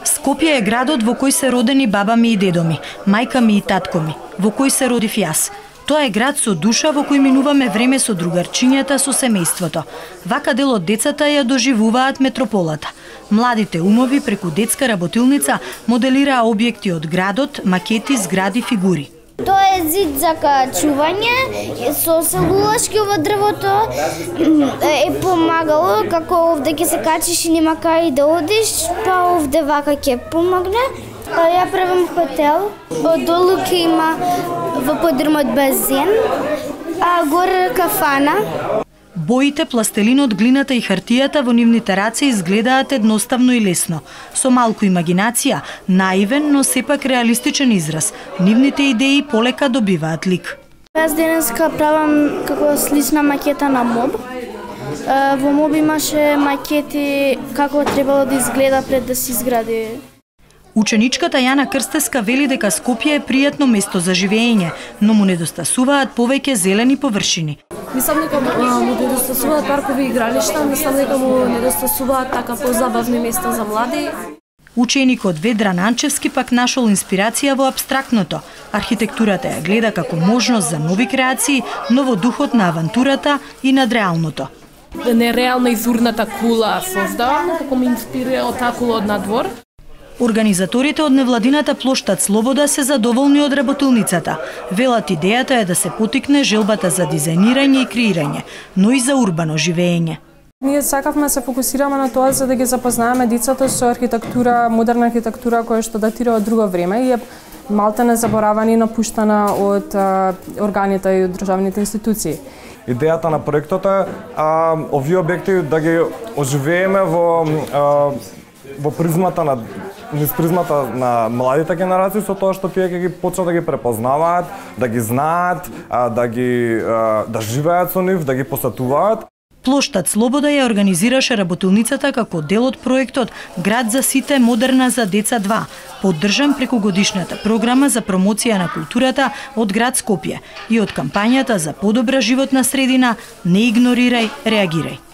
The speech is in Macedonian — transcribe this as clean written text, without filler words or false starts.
Скопје е градот во кој се родени баба ми и дедо ми, мајка ми и татко ми, во кој се родив јас. Тоа е град со душа во кој минуваме време со другарчињата, со семејството. Вака дел од децата ја доживуваат метрополата. Младите умови преку детска работилница моделираа објекти од градот, макети, згради, фигури. Тоа е зид за качување, со селулашки во дрвото е помагало, како овде ќе се качиш и нема кај да одиш, па овде вака ќе помогне. Ја правам хотел, одолу ќе има во подрумот базен, а горе кафана. Боите, пластелинот, глината и хартијата во нивните раце изгледаат едноставно и лесно. Со малку имагинација, наивен, но сепак реалистичен израз. Нивните идеи полека добиваат лик. Јас денеска правам како слична макета на моб. Во моб имаше макети како требало да изгледа пред да се изгради. Ученичката Јана Крстеска вели дека Скопје е пријатно место за живење, но му недостасуваат повеќе зелени површини. Мислам дека му недостасуваат паркови игралишта, мислам дека му недостасуваат така позабавни места за млади. Ученикот Ведран Анчевски пак нашол инспирација во абстрактното. Архитектурата ја гледа како можност за нови креации, но во духот на авантурата и надреалното. Нереална изурната кула создавам, како ме инспирира од таа кула од надвор. Организаторите од невладината плоштад Слобода се задоволни од работилницата. Велат идејата е да се потикне желбата за дизајнирање и креирање, но и за урбано живење. Ние сакавме се фокусираме на тоа за да ги запознаеме децата со архитектура, модерна архитектура која што датира од друго време и е малте незаборавана и напуштана од органите и од државните институции. Идејата на проектот е овие објекти да ги оживееме во призмата на младите генерации, со тоа што тие ќе ги почнат да ги препознаваат, да ги знаат, да живеат со нив, да ги посетуваат. Плоштад Слобода ја организираше работилницата како дел од проектот Град за сите, модерна за деца 2, поддржан преку годишната програма за промоција на културата од град Скопје и од кампањата за подобра животна средина Не игнорирај, реагирај.